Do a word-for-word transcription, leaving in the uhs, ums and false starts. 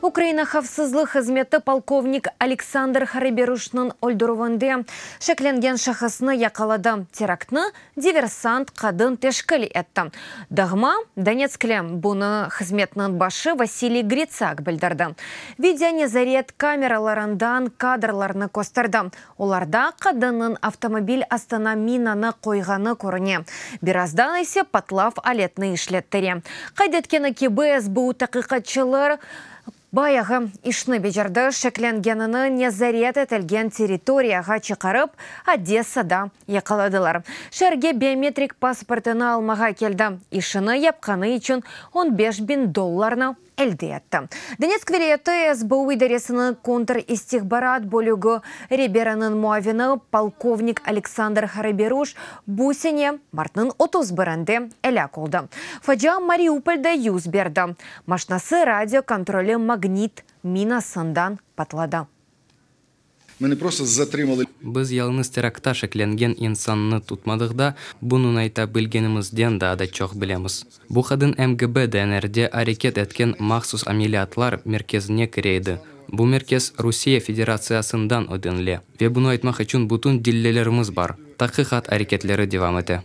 Ukraina havfsızlıq hızmeti polkovnik Aleksandr Haraberuşnıñ öldürüvinde şeklengen şahısnı yaqaladı. Teraktnı diversant qadın teşkil etti, dağma Donetskli. Bunı hızmetniñ başı Vasiliy Gritsak bildirdi. Video nezaret kameralarından kadrlarnı kösterdi. Olarda qadınnıñ avtomobil astına minanı qoyğanı körüne. Birazdan ise patlav aletini işlettire. Qayd etkeni kibi, S B U taqiqatçılar bayağı işni becerdi, şeklengenini nezaret etilgen territoriyağa çıqarıp, Odessada yaqaladılar. Şeerge biometrik pasportını almağa keldi. İşini yapqanı içün on beş biñ dollarnı elde etti. Donetsk vilâyeti S B U idaresiniñ kontristihbarat bölügi reberiniñ muavini polkovnik Aleksandr Haraberuş bu sene martnıñ otuz birinde elâk oldı. Facia Mariupolde yüz berdi. Maşnası radio kontroli magnit minasından patladı. Ми не просто затримали Biz yalıñız teraktta şeklengen insannı tutmadıq da, bunıñ ayta bilgenimizden daa da çoq bilemiz. Bu qadın M G B D N Rde areket etken Mahsus ameliyatlar merkezine kire edi. Bu merkez Rusiye Federatsiyasından ödenile. Ve bunı aytmaq içün bütün delillerimiz bar. Taqiqat areketleri devam ete.